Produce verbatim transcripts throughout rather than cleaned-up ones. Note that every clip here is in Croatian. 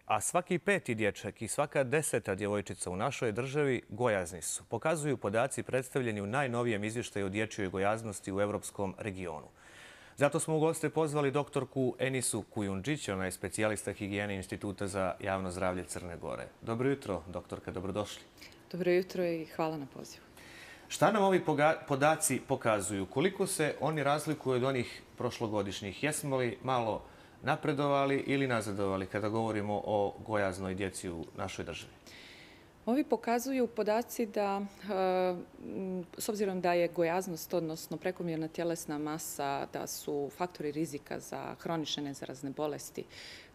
A svaki peti dječak i svaka deseta djevojčica u našoj državi gojazni su. Pokazuju podaci predstavljeni u najnovijem izvještaju o dječjoj gojaznosti u evropskom regionu. Zato smo u goste pozvali doktorku Enisu Kujundžić, ona je specijalista higijene Instituta za javno zdravlje Crne Gore. Dobro jutro, doktorka, dobrodošli. Dobro jutro i hvala na pozivu. Šta nam ovi podaci pokazuju? Koliko se oni razlikuju od onih prošlogodišnjih? Jesmo li malo napredovali ili nazadovali kada govorimo o gojaznoj djeci u našoj državi? Ovi pokazuju podaci da, s obzirom da je gojaznost, odnosno prekomjerna tjelesna masa, da su faktori rizika za hronične nezarazne bolesti,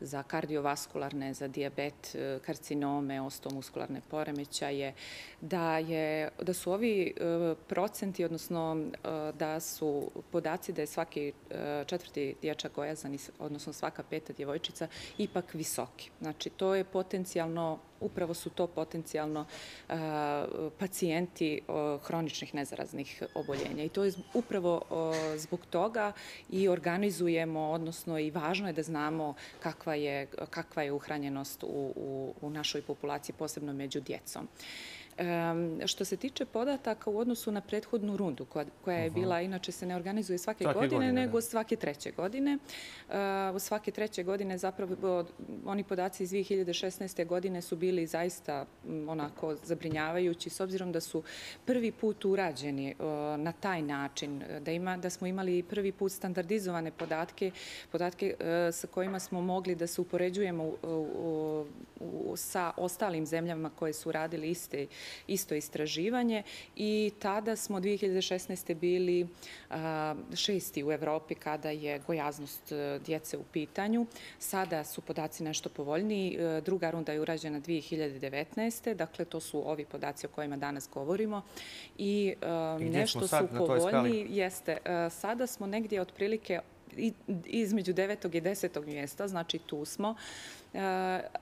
za kardiovaskularne, za dijabet, karcinome, osteomuskularne poremećaje, da, je, da su ovi procenti, odnosno da su podaci da je svaki četvrti dječak gojazan, odnosno svaka peta djevojčica, ipak visoki. Znači, to je potencijalno, upravo su to potencijalno pacijenti hroničnih nezaraznih oboljenja. I to je upravo zbog toga i organizujemo, odnosno i važno je da znamo kakva je, kakva je uhranjenost u, u, u našoj populaciji, posebno među djecom. Što se tiče podataka u odnosu na prethodnu rundu, koja je bila, inače se ne organizuje svake godine, nego svake treće godine. U svake treće godine zapravo oni podaci iz dvije hiljade šesnaeste. godine su bili zaista onako zabrinjavajući, s obzirom da su prvi put urađeni na taj način, da, ima, da smo imali prvi put standardizovane podatke, podatke sa kojima smo mogli da se upoređujemo u, u, u, sa ostalim zemljama koje su radili iste isto istraživanje i tada smo dvije hiljade šesnaeste. bili a, šesti u Evropi kada je gojaznost djece u pitanju. Sada su podaci nešto povoljniji. Druga runda je urađena dvije hiljade devetnaeste. Dakle, to su ovi podaci o kojima danas govorimo. I, a, I nešto su povoljniji. Jeste, a, sada smo negdje otprilike između devetog i desetog mjesta, znači tu smo,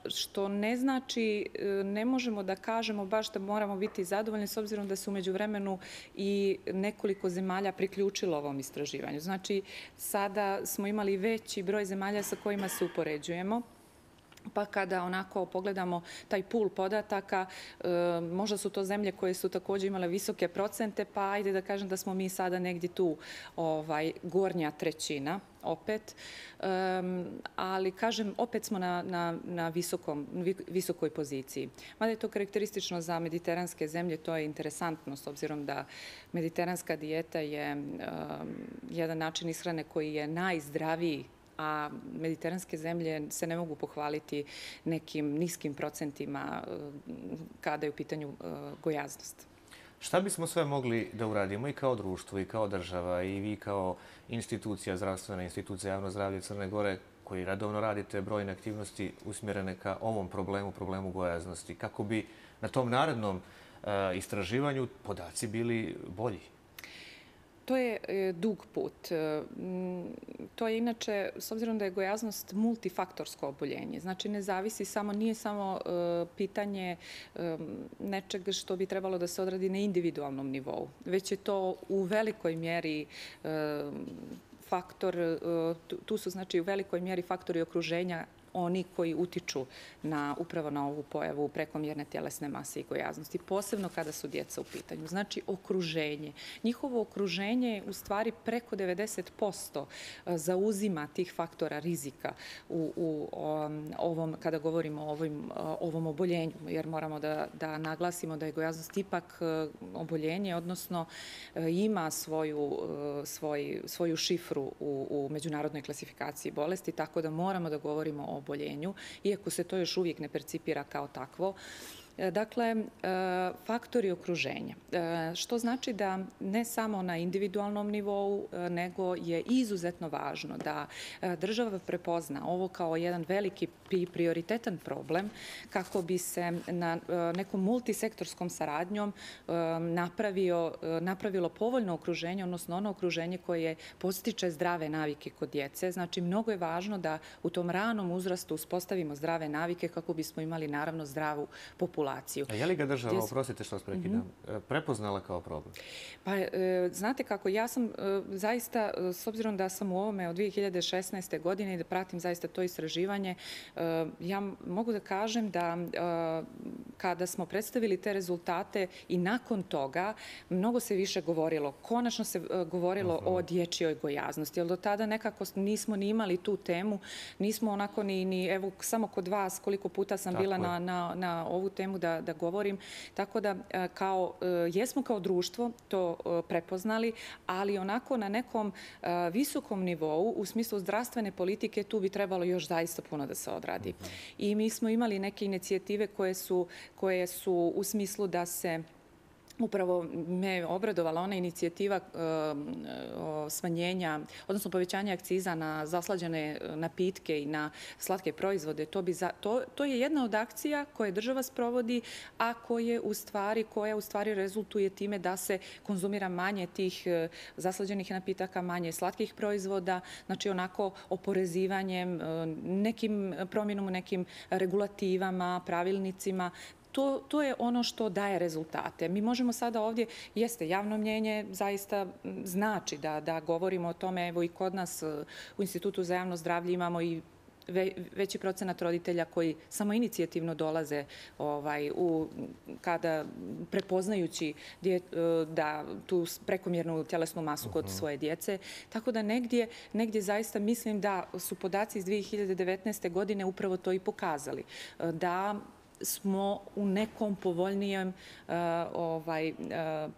što ne znači, ne možemo da kažemo baš da moramo biti zadovoljni s obzirom da se u međuvremenu i nekoliko zemalja priključilo ovom istraživanju. Znači, sada smo imali veći broj zemalja sa kojima se upoređujemo. Pa kada onako pogledamo taj pool podataka, možda su to zemlje koje su također imale visoke procente, pa ajde da kažem da smo mi sada negdje tu ovaj, gornja trećina opet. Um, ali kažem, opet smo na, na, na visokom, visokoj poziciji. Mada je to karakteristično za mediteranske zemlje, to je interesantno s obzirom da mediteranska dijeta je um, jedan način ishrane koji je najzdraviji, a mediteranske zemlje se ne mogu pohvaliti nekim niskim procentima kada je u pitanju gojaznost. Šta bismo sve mogli da uradimo i kao društvo, i kao država, i vi kao institucija, zdravstvena institucija javno zdravlje Crne Gore, koji radovno radite brojne aktivnosti usmjerene ka ovom problemu, problemu gojaznosti, kako bi na tom narednom uh, istraživanju podaci bili bolji? To je dug put. To je inače, s obzirom da je gojaznost multifaktorsko oboljenje, znači ne zavisi samo, nije samo pitanje nečega što bi trebalo da se odradi na individualnom nivou, već je to u velikoj mjeri faktor, tu su znači u velikoj mjeri faktori okruženja, oni koji utiču na, upravo na ovu pojavu prekomjerne tjelesne mase i gojaznosti, posebno kada su djeca u pitanju. Znači, okruženje. Njihovo okruženje u stvari preko devedeset posto zauzima tih faktora rizika u, u ovom, kada govorimo o ovim, ovom oboljenju, jer moramo da, da naglasimo da je gojaznost ipak oboljenje, odnosno ima svoju, svoj, svoju šifru u, u međunarodnoj klasifikaciji bolesti, tako da moramo da govorimo o oboljenju, iako se to još uvijek ne percipira kao takvo. Dakle, faktori okruženja, što znači da ne samo na individualnom nivou, nego je izuzetno važno da država prepozna ovo kao jedan veliki prioritetan problem kako bi se na nekom multisektorskom saradnjom napravio, napravilo povoljno okruženje, odnosno ono okruženje koje postiče zdrave navike kod djece. Znači, mnogo je važno da u tom ranom uzrastu uspostavimo zdrave navike kako bismo imali naravno zdravu populaciju populaciju. A je li ga država, oprostite što vas prekidam, prepoznala kao problem? Pa, znate kako, ja sam zaista, s obzirom da sam u ovome od dvije hiljade šesnaeste. godine i da pratim zaista to istraživanje, ja mogu da kažem da kada smo predstavili te rezultate i nakon toga, mnogo se više govorilo. Konačno se govorilo o dječjoj gojaznosti, jer do tada nekako nismo ni imali tu temu, nismo onako ni, evo, samo kod vas koliko puta sam bila na, na, na ovu temu da, da govorim. Tako da, kao, jesmo kao društvo to prepoznali, ali onako na nekom visokom nivou, u smislu zdravstvene politike, tu bi trebalo još zaista puno da se odradi. I mi smo imali neke inicijative koje su, koje su u smislu da se upravo me obradovala ona inicijativa smanjenja, odnosno povećanja akciza na zaslađene napitke i na slatke proizvode. To, bi za, to, to je jedna od akcija koje država sprovodi, a koje u stvari, koja u stvari rezultuje time da se konzumira manje tih zaslađenih napitaka, manje slatkih proizvoda, znači onako oporezivanjem, nekim promjenom u nekim regulativama, pravilnicima. To, to je ono što daje rezultate. Mi možemo sada ovdje, jeste, javno mnjenje zaista znači da, da govorimo o tome, evo i kod nas u Institutu za javno zdravlje imamo i veći procenat roditelja koji samo inicijativno dolaze ovaj, u, kada prepoznajući dje, da tu prekomjernu tjelesnu masu kod svoje djece. Tako da negdje, negdje zaista mislim da su podaci iz dvije hiljade devetnaeste. godine upravo to i pokazali. Da smo u nekom povoljnijem uh, ovaj, uh,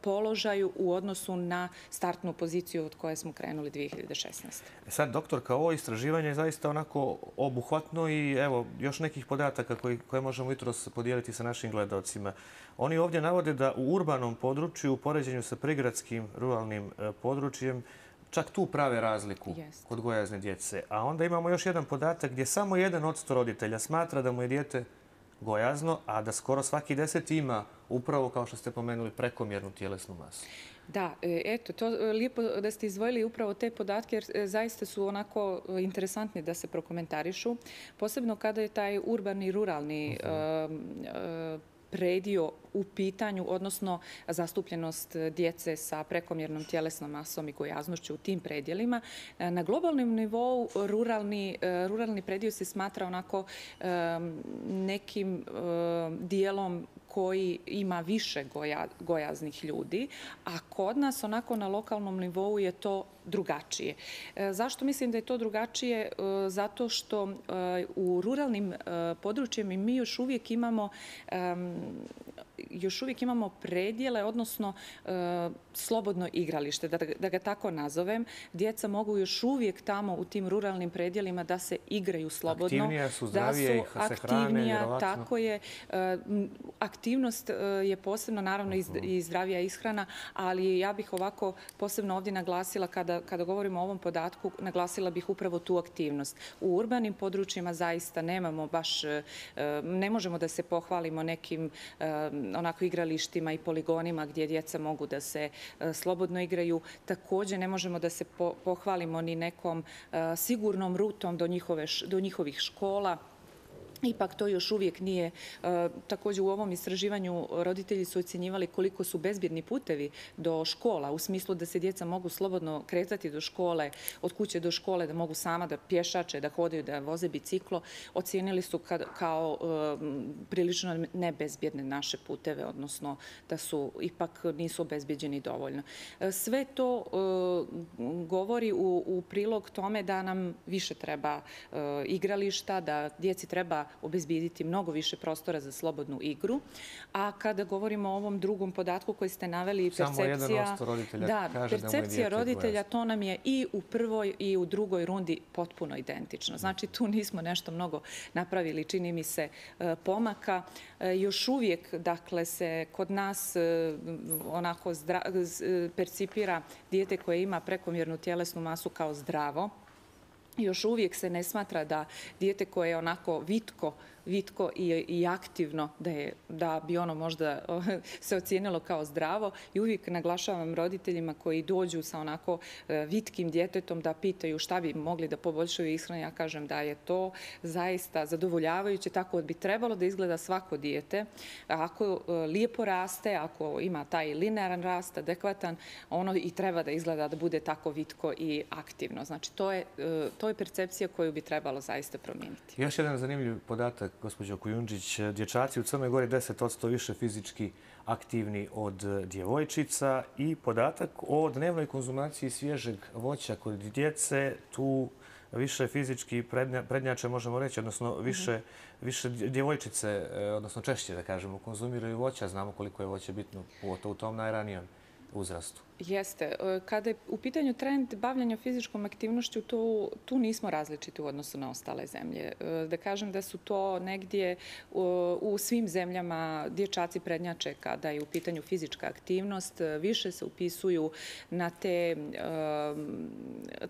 položaju u odnosu na startnu poziciju od koje smo krenuli dvije hiljade šesnaeste. Sad, doktorka, ovo istraživanje je zaista onako obuhvatno i evo, još nekih podataka koji, koje možemo jutros podijeliti sa našim gledalcima. Oni ovdje navode da u urbanom području, u poređenju sa prigradskim ruralnim uh, područjem, čak tu prave razliku Jest. kod gojazne djece. A onda imamo još jedan podatak gdje samo jedan od sto roditelja smatra da mu je dijete gojazno, a da skoro svaki deset ima upravo, kao što ste pomenuli, prekomjernu tjelesnu masu. Da, eto, to lijepo da ste izdvojili upravo te podatke, jer zaista su onako interesantni da se prokomentarišu. Posebno kada je taj urbani, ruralni uh-huh. uh, predio u pitanju, odnosno zastupljenost djece sa prekomjernom tjelesnom masom i gojaznošću u tim predjelima. Na globalnom nivou ruralni, ruralni predio se smatra onako nekim dijelom koji ima više goja, gojaznih ljudi, a kod nas onako na lokalnom nivou je to drugačije. Zašto mislim da je to drugačije? Zato što u ruralnim područjima mi još uvijek imamo još uvijek imamo predjele, odnosno slobodno igralište, da, da ga tako nazovem. Djeca mogu još uvijek tamo u tim ruralnim predjelima da se igraju slobodno. Aktivnija su, zdravije, ih se hrane, vjerovatno. Tako je. Aktivnost je posebno, naravno, i zdravija ishrana, ali ja bih ovako posebno ovdje naglasila, kada, kada govorimo o ovom podatku, naglasila bih upravo tu aktivnost. U urbanim područjima zaista nemamo baš, ne možemo da se pohvalimo nekim onako igralištima i poligonima gdje djeca mogu da se slobodno igraju. Također ne možemo da se pohvalimo ni nekom sigurnom rutom do, njihove, do njihovih škola. Ipak to još uvijek nije. Također u ovom istraživanju roditelji su ocjenjivali koliko su bezbjedni putevi do škola, u smislu da se djeca mogu slobodno kretati do škole, od kuće do škole, da mogu sama da pješače, da hodaju, da voze biciklo. Ocijenili su kao prilično nebezbjedne naše puteve, odnosno da su ipak nisu obezbjeđeni dovoljno. Sve to govori u, u prilog tome da nam više treba igrališta, da djeci treba obezbijediti mnogo više prostora za slobodnu igru. A kada govorimo o ovom drugom podatku koji ste naveli, percepcija, samo jedan posto roditelja da, kaže percepcija da mu je roditelja, to nam je i u prvoj i u drugoj rundi potpuno identično. Znači, tu nismo nešto mnogo napravili, čini mi se, pomaka. Još uvijek, dakle, se kod nas onako zdra, percipira dijete koje ima prekomjernu tjelesnu masu kao zdravo. Još uvijek se ne smatra da dijete koje je onako vitko vitko i, i aktivno, da, je, da bi ono možda se ocijenilo kao zdravo. I uvijek naglašavam roditeljima koji dođu sa onako vitkim djetetom da pitaju šta bi mogli da poboljšaju ishranu. Ja kažem da je to zaista zadovoljavajuće, tako bi trebalo da izgleda svako dijete. Ako lijepo raste, ako ima taj linearan rast, adekvatan, ono i treba da izgleda da bude tako vitko i aktivno. Znači, to je, to je percepcija koju bi trebalo zaista promijeniti. Još jedan zanimljiv podatak, gospođo Kujundžić. Dječaci u Crnoj Gori deset posto više fizički aktivni od djevojčica i podatak o dnevnoj konzumaciji svježeg voća kod djece. Tu više fizički prednjače, možemo reći, odnosno više, više djevojčice, odnosno češće, da kažemo, konzumiraju voća. Znamo koliko je voće bitno u tom najranijem uzrastu. Jeste. Kada je u pitanju trend bavljanja fizičkom aktivnošću, tu, tu nismo različiti u odnosu na ostale zemlje. Da kažem da su to negdje u, u svim zemljama dječaci prednjače kada je u pitanju fizička aktivnost. Više se upisuju na te um,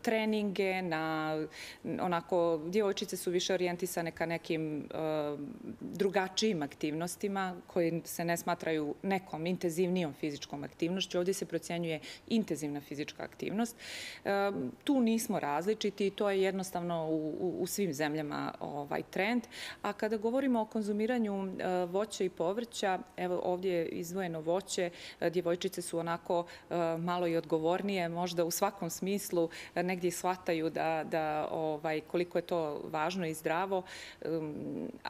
treninge, na onako, djevojčice su više orijentisane ka nekim um, drugačijim aktivnostima koji se ne smatraju nekom intenzivnijom fizičkom aktivnošću. Ovdje se procjenjuje intenzivna fizička aktivnost. Tu nismo različiti i to je jednostavno u, u svim zemljama ovaj trend. A kada govorimo o konzumiranju voća i povrća, evo ovdje je izdvojeno voće, djevojčice su onako malo i odgovornije, možda u svakom smislu negdje shvataju da, da ovaj, koliko je to važno i zdravo.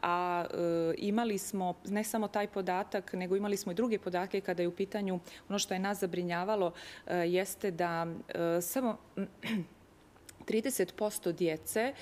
A imali smo ne samo taj podatak, nego imali smo i druge podatke kada je u pitanju ono što je nas zabrinjavalo, jeste da samo trideset posto djece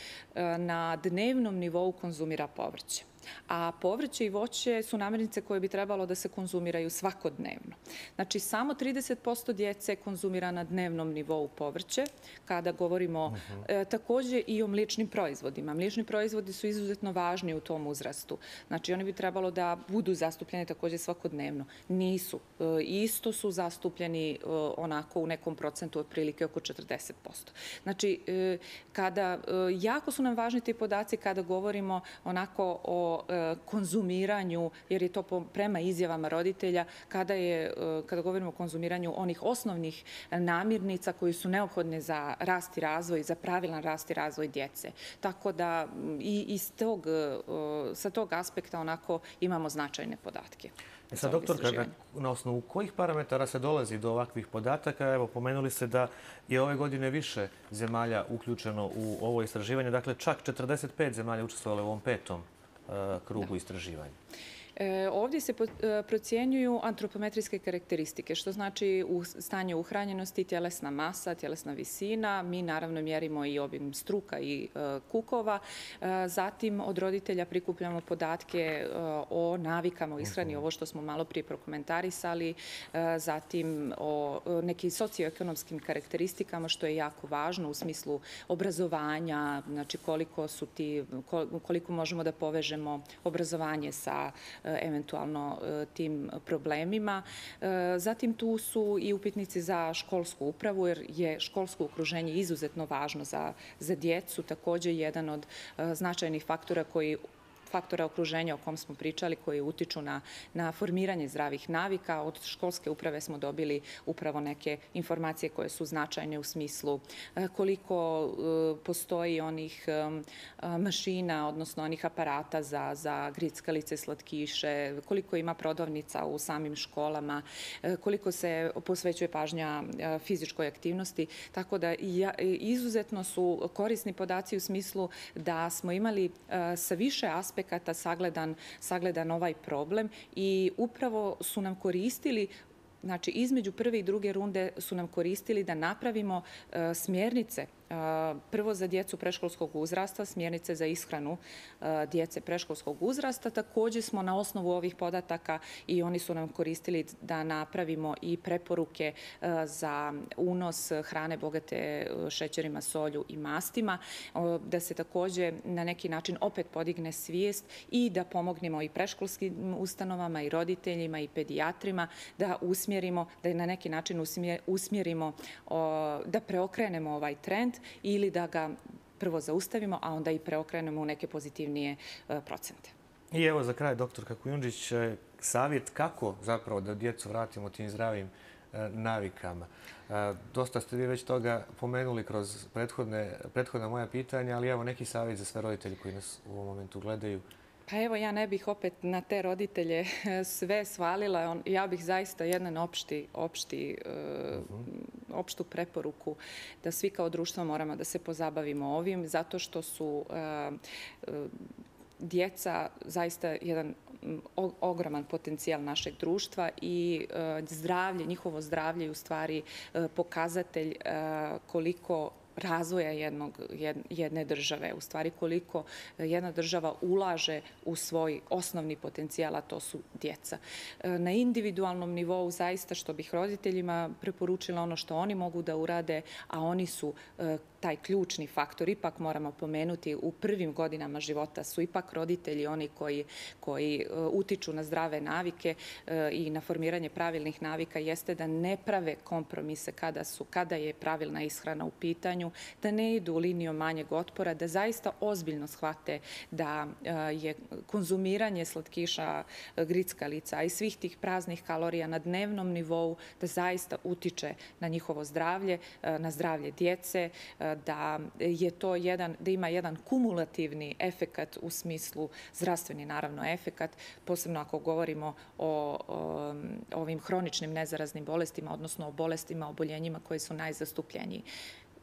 na dnevnom nivou konzumira povrće. A povrće i voće su namirnice koje bi trebalo da se konzumiraju svakodnevno. Znači, samo trideset posto djece konzumira na dnevnom nivou povrće. Kada govorimo uh-huh. e, također i o mliječnim proizvodima. Mliječni proizvodi su izuzetno važni u tom uzrastu. Znači, oni bi trebalo da budu zastupljeni također svakodnevno. Nisu. E, isto su zastupljeni e, onako u nekom procentu otprilike oko četrdeset posto. Znači, e, kada, e, jako su nam važni ti podaci kada govorimo onako o konzumiranju, jer je to prema izjavama roditelja, kada, je, kada govorimo o konzumiranju onih osnovnih namirnica koji su neophodne za rast i razvoj, za pravilan rast i razvoj djece. Tako da i iz tog, sa tog aspekta onako imamo značajne podatke. E sad, doktorka, na, na osnovu kojih parametara se dolazi do ovakvih podataka? Evo, pomenuli ste da je ove godine više zemalja uključeno u ovo istraživanje. Dakle, čak četrdeset pet zemalja učestvovalo u ovom petom krugu istraživanja. E, ovdje se procjenjuju antropometrijske karakteristike, što znači u stanje uhranjenosti, tjelesna masa, tjelesna visina. Mi naravno mjerimo i obim struka i e, kukova. E, zatim od roditelja prikupljamo podatke e, o navikama u ishrani, ovo što smo malo prije prokomentarisali. E, zatim o e, nekim socioekonomskim karakteristikama, što je jako važno u smislu obrazovanja, znači koliko su ti, koliko možemo da povežemo obrazovanje sa eventualno tim problemima. Zatim tu su i upitnici za školsku upravu, jer je školsko okruženje izuzetno važno za, za djecu, također jedan od značajnih faktora koji faktora okruženja o kom smo pričali, koji utiču na, na formiranje zdravih navika. Od školske uprave smo dobili upravo neke informacije koje su značajne u smislu koliko postoji onih mašina, odnosno onih aparata za, za grickalice, slatkiše, koliko ima prodavnica u samim školama, koliko se posvećuje pažnja fizičkoj aktivnosti. Tako da izuzetno su korisni podaci u smislu da smo imali sa više aspekta sagledan, sagledan ovaj problem i upravo su nam koristili, znači između prve i druge runde su nam koristili da napravimo uh, smjernice prvo za djecu preškolskog uzrasta, smjernice za ishranu djece preškolskog uzrasta. Također smo na osnovu ovih podataka i oni su nam koristili da napravimo i preporuke za unos hrane bogate šećerima, solju i mastima, da se također na neki način opet podigne svijest i da pomognemo i preškolskim ustanovama i roditeljima i pedijatrima da usmjerimo, da na neki način usmjerimo, da preokrenemo ovaj trend ili da ga prvo zaustavimo, a onda i preokrenemo u neke pozitivnije procente. I evo za kraj, doktorka Kujundžić, savjet kako zapravo da djecu vratimo tim zdravim navikama. Dosta ste vi već toga pomenuli kroz prethodna moja pitanja, ali evo neki savjet za sve roditelji koji nas u ovom momentu gledaju. Pa evo, ja ne bih opet na te roditelje sve svalila. Ja bih zaista jedan opšti, opšti, opštu preporuku da svi kao društvo moramo da se pozabavimo ovim, zato što su djeca zaista jedan ogroman potencijal našeg društva i zdravlje, njihovo zdravlje je u stvari pokazatelj koliko razvoja jednog, jedne države, u stvari koliko jedna država ulaže u svoj osnovni potencijal, a to su djeca. Na individualnom nivou zaista što bih roditeljima preporučila ono što oni mogu da urade, a oni su taj ključni faktor, ipak moramo pomenuti, u prvim godinama života su ipak roditelji oni koji, koji utiču na zdrave navike i na formiranje pravilnih navika, jeste da ne prave kompromise kada, su, kada je pravilna ishrana u pitanju, da ne idu linijom manjeg otpora, da zaista ozbiljno shvate da je konzumiranje slatkiša, grickalica i svih tih praznih kalorija na dnevnom nivou, da zaista utiče na njihovo zdravlje, na zdravlje djece, da je to jedan, da ima jedan kumulativni efekat u smislu zdravstveni, naravno, efekat, posebno ako govorimo o, o ovim hroničnim nezaraznim bolestima, odnosno o bolestima, oboljenjima koji su najzastupljeniji.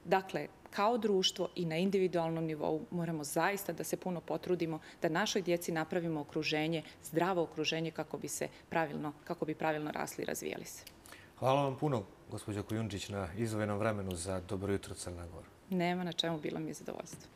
Dakle, kao društvo i na individualnom nivou moramo zaista da se puno potrudimo da našoj djeci napravimo okruženje, zdravo okruženje kako bi se pravilno, kako bi pravilno rasli i razvijali se. Hvala vam puno, gospođo Kujundžić, na izdvojenom vremenu za Dobro jutro Crna Gora. Nema na čemu, bilo mi je zadovoljstvo.